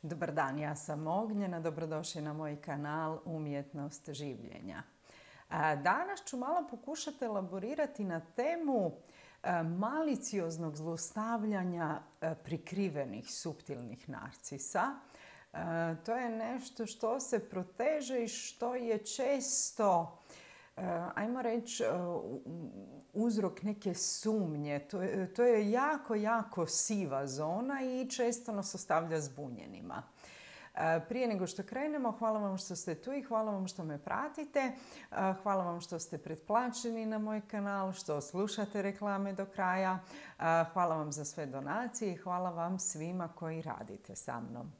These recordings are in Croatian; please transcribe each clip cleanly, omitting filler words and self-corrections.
Dobar dan, ja sam Ognjena, dobrodošli na moj kanal Umjetnost življenja. Danas ću malo pokušati elaborirati na temu malicioznog zlostavljanja prikrivenih suptilnih narcisa. To je nešto što se proteže i što je često, ajmo reći, uzrok neke sumnje. To je jako siva zona i često nas ostavlja zbunjenima. Prije nego što krenemo, hvala vam što ste tu i hvala vam što me pratite. Hvala vam što ste pretplaćeni na moj kanal, što slušate reklame do kraja. Hvala vam za sve donacije i hvala vam svima koji radite sa mnom.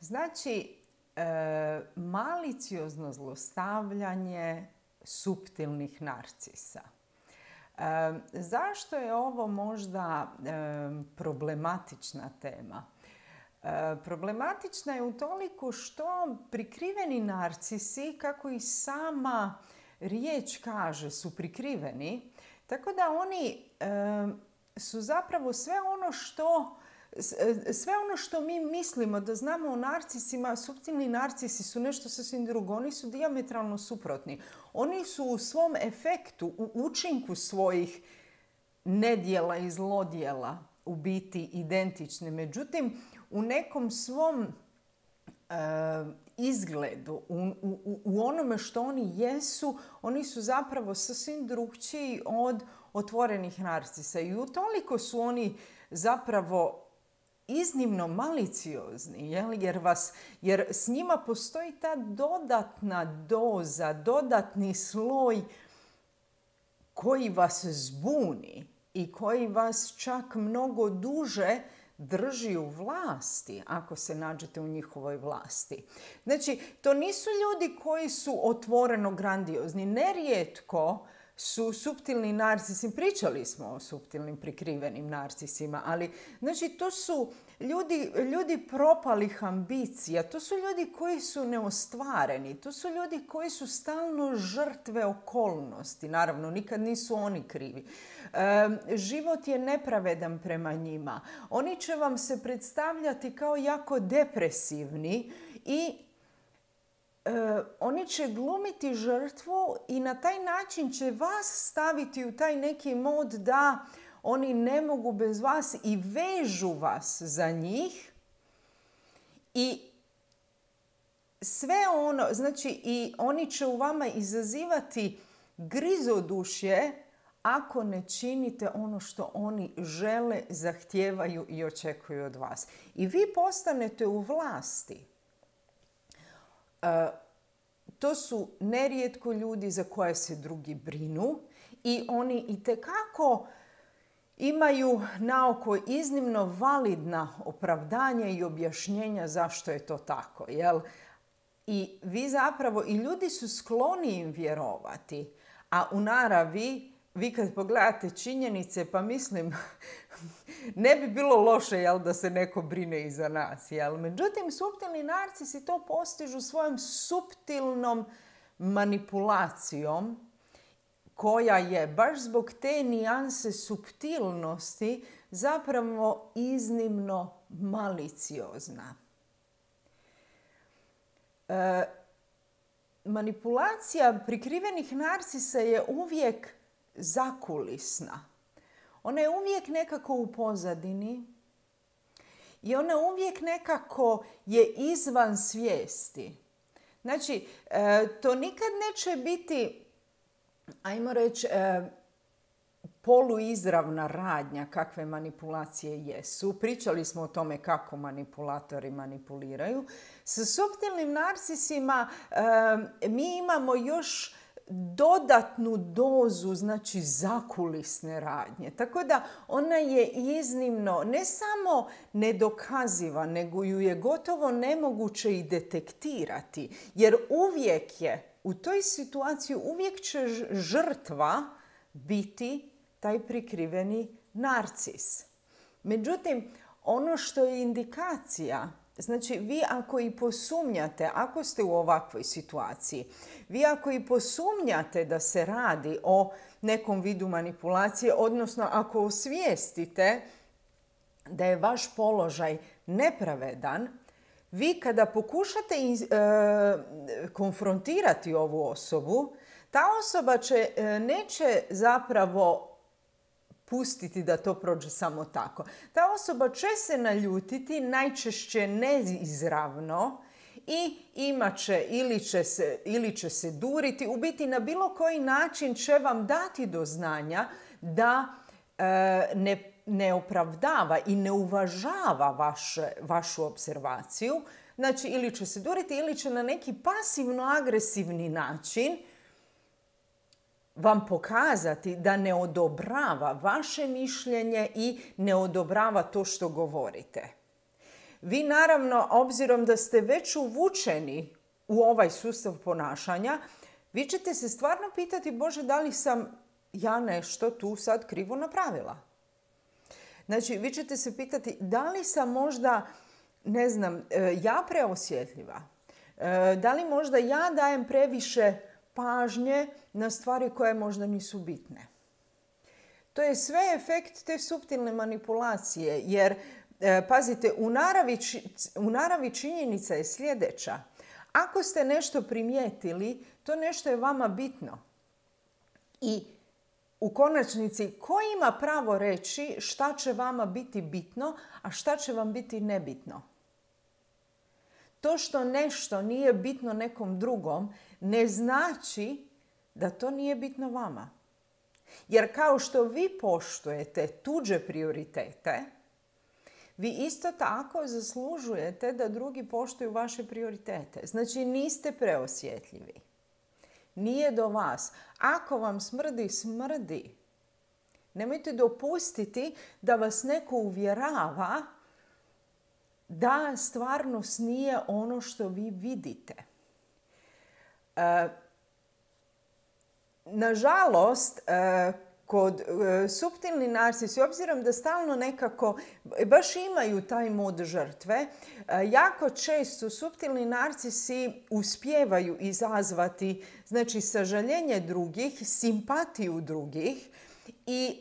Znači, maliciozno zlostavljanje suptilnih narcisa. Zašto je ovo možda problematična tema? Problematična je utoliko što prikriveni narcisi, kako i sama riječ kaže, su prikriveni, tako da oni su zapravo sve ono što mi mislimo da znamo o narcisima. Suptilni narcisi su nešto sasvim drugo. Oni su dijametralno suprotni. Oni su u svom efektu, u učinku svojih nedjela i zlodjela u biti identični. Međutim, u nekom svom izgledu, u onome što oni jesu, oni su zapravo sasvim drukčiji od otvorenih narcisa. I utoliko su oni zapravo iznimno maliciozni, jer s njima postoji ta dodatna doza, dodatni sloj koji vas zbuni i koji vas čak mnogo duže drži u vlasti ako se nađete u njihovoj vlasti. Znači, to nisu ljudi koji su otvoreno grandiozni. Nerijetko su suptilni narcisi, pričali smo o suptilnim prikrivenim narcisima, ali znači to su ljudi propalih ambicija, to su ljudi koji su neostvareni, to su ljudi koji su stalno žrtve okolnosti. Naravno, nikad nisu oni krivi. Život je nepravedan prema njima. Oni će vam se predstavljati kao jako depresivni i oni će glumiti žrtvu i na taj način će vas staviti u taj neki mod da oni ne mogu bez vas i vežu vas za njih. I sve ono, znači i oni će u vama izazivati grizodušje ako ne činite ono što oni žele, zahtijevaju i očekuju od vas. I vi postanete u vlasti. To su nerijetko ljudi za koje se drugi brinu i oni itekako imaju na oko iznimno validna opravdanja i objašnjenja zašto je to tako. Jel? I vi zapravo, i ljudi su skloni im vjerovati, a u naravi, vi kad pogledate činjenice, pa mislim, ne bi bilo loše da se neko brine i za nas. Jel? Međutim, suptilni narcisi to postižu svojom suptilnom manipulacijom koja je baš zbog te nijanse suptilnosti zapravo iznimno maliciozna. Manipulacija prikrivenih narcisa je uvijek zakulisna. Ona je uvijek nekako u pozadini i ona uvijek nekako je izvan svijesti. Znači, to nikad neće biti, ajmo reći, poluizravna radnja kakve manipulacije jesu. Pričali smo o tome kako manipulatori manipuliraju. Sa suptilnim narcisima mi imamo još dodatnu dozu, znači zakulisne radnje. Tako da ona je iznimno, ne samo nedokaziva, nego ju je gotovo nemoguće i detektirati. Jer uvijek je, u toj situaciji uvijek će žrtva biti taj prikriveni narcis. Međutim, ono što je indikacija, znači vi ako i posumnjate, ako ste u ovakvoj situaciji, vi ako i posumnjate da se radi o nekom vidu manipulacije, odnosno ako osvijestite da je vaš položaj nepravedan, vi kada pokušate konfrontirati ovu osobu, ta osoba neće zapravo pustiti da to prođe samo tako. Ta osoba će se naljutiti, najčešće neizravno, i imat će ili će se duriti. U biti na bilo koji način će vam dati do znanja da ne opravdava i ne uvažava vašu observaciju. Znači, ili će se duriti ili će na neki pasivno-agresivni način vam pokazati da ne odobrava vaše mišljenje i ne odobrava to što govorite. Vi naravno, obzirom da ste već uvučeni u ovaj sustav ponašanja, vi ćete se stvarno pitati, Bože, da li sam ja nešto tu sad krivo napravila? Znači, vi ćete se pitati, da li sam možda, ne znam, ja preosjetljiva? Da li možda ja dajem previše pažnje na stvari koje možda nisu bitne? To je sve efekt te suptilne manipulacije, jer pazite, u naravi činjenica je sljedeća. Ako ste nešto primijetili, to nešto je vama bitno. I u konačnici, ko ima pravo reći šta će vama biti bitno, a šta će vam biti nebitno? To što nešto nije bitno nekom drugom ne znači da to nije bitno vama. Jer kao što vi poštujete tuđe prioritete, vi isto tako zaslužujete da drugi poštuju vaše prioritete. Znači, niste preosjetljivi. Nije do vas. Ako vam smrdi, smrdi. Nemojte dopustiti da vas neko uvjerava da stvarnost nije ono što vi vidite. Nažalost, kod suptilni narcisi, obzirom da stalno nekako baš imaju taj mod žrtve, jako često suptilni narcisi uspijevaju izazvati, znači, sažaljenje drugih, simpatiju drugih, i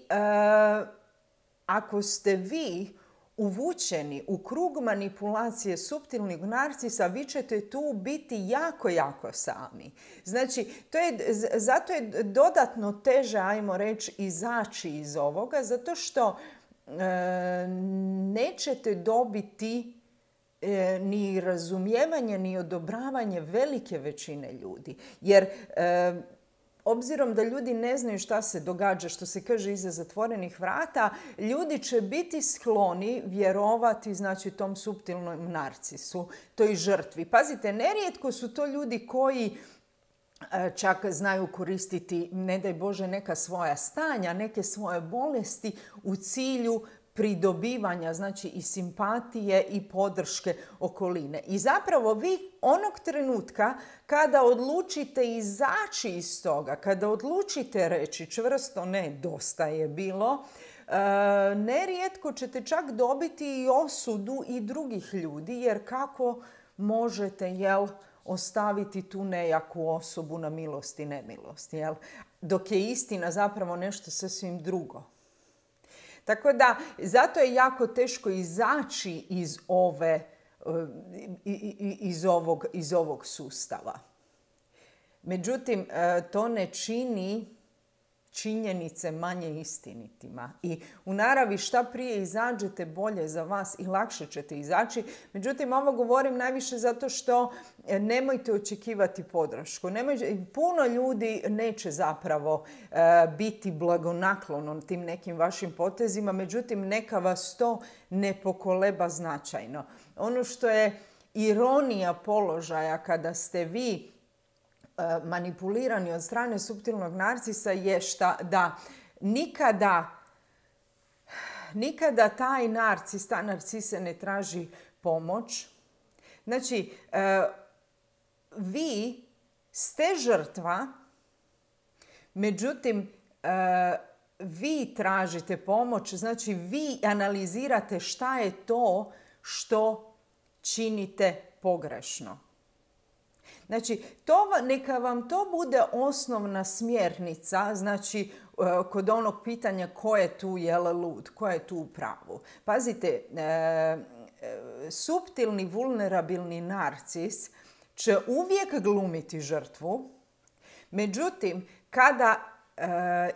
ako ste vi uvučeni u krug manipulacije suptilnih narcisa, vi ćete tu biti jako, jako sami. Znači, zato je dodatno teže, ajmo reći, izaći iz ovoga, zato što nećete dobiti ni razumijevanje, ni odobravanje velike većine ljudi. Jer obzirom da ljudi ne znaju šta se događa, što se kaže iza zatvorenih vrata, ljudi će biti skloni vjerovati, znači, tom suptilnom narcisu, toj žrtvi. Pazite, nerijetko su to ljudi koji čak znaju koristiti, ne daj Bože, neka svoja stanja, neke svoje bolesti u cilju pridobivanja, znači, i simpatije i podrške okoline. I zapravo vi onog trenutka kada odlučite izaći iz toga, kada odlučite reći čvrsto ne, dosta je bilo, nerijetko ćete čak dobiti i osudu i drugih ljudi, jer kako možete, ostaviti tu nejaku osobu na milost i nemilost, dok je istina zapravo nešto sasvim drugo. Tako da, zato je jako teško izaći iz ovog sustava. Međutim, to ne čini činjenice manje istinitima. I u naravi šta prije izađete, bolje za vas i lakše ćete izaći. Međutim, ovo govorim najviše zato što nemojte očekivati podršku. Puno ljudi neće zapravo biti blagonaklonom tim nekim vašim potezima, međutim, neka vas to ne pokoleba značajno. Ono što je ironija položaja kada ste vi manipulirani od strane suptilnog narcisa je da nikada taj narcis, ta narcisa ne traži pomoć. Znači, vi ste žrtva, međutim, vi tražite pomoć, znači vi analizirate šta je to što činite pogrešno. Znači, neka vam to bude osnovna smjernica, znači, kod onog pitanja ko je tu lud, ko je tu u pravu. Pazite, suptilni, vulnerabilni narcis će uvijek glumiti žrtvu, međutim, kada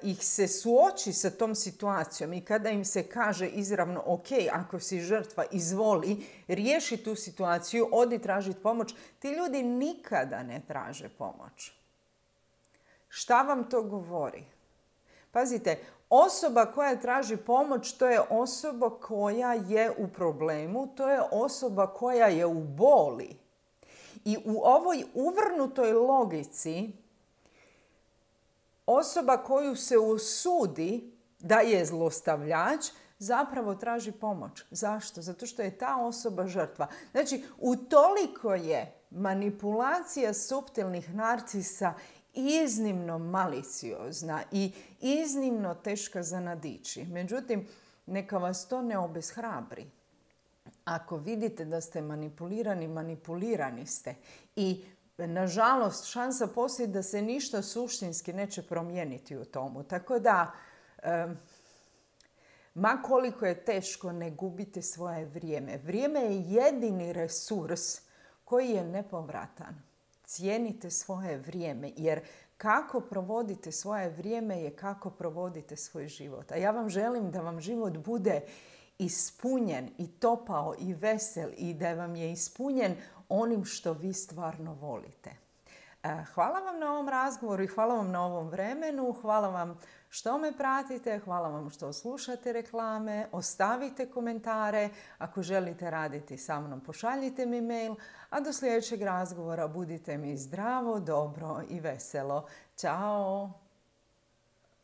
ih se suoči sa tom situacijom i kada im se kaže izravno ok, ako si žrtva, izvoli, riješi tu situaciju, odi tražiti pomoć, ti ljudi nikada ne traže pomoć. Šta vam to govori? Pazite, osoba koja traži pomoć, to je osoba koja je u problemu, to je osoba koja je u boli. I u ovoj uvrnutoj logici osoba koju se usudi da je zlostavljač zapravo traži pomoć. Zašto? Zato što je ta osoba žrtva. Znači, utoliko je manipulacija suptilnih narcisa iznimno maliciozna i iznimno teška za nadići. Međutim, neka vas to ne obeshrabri. Ako vidite da ste manipulirani, manipulirani ste. I nažalost, šansa postoji da se ništa suštinski neće promijeniti u tomu. Tako da, ma koliko je teško, ne gubite svoje vrijeme. Vrijeme je jedini resurs koji je nepovratan. Cijenite svoje vrijeme, jer kako provodite svoje vrijeme je kako provodite svoj život. A ja vam želim da vam život bude ispunjen i topao i vesel i da vam je ispunjen onim što vi stvarno volite. Hvala vam na ovom razgovoru i hvala vam na ovom vremenu. Hvala vam što me pratite, hvala vam što slušate reklame, ostavite komentare. Ako želite raditi sa mnom, pošaljite mi mail. A do sljedećeg razgovora budite mi zdravo, dobro i veselo. Ćao!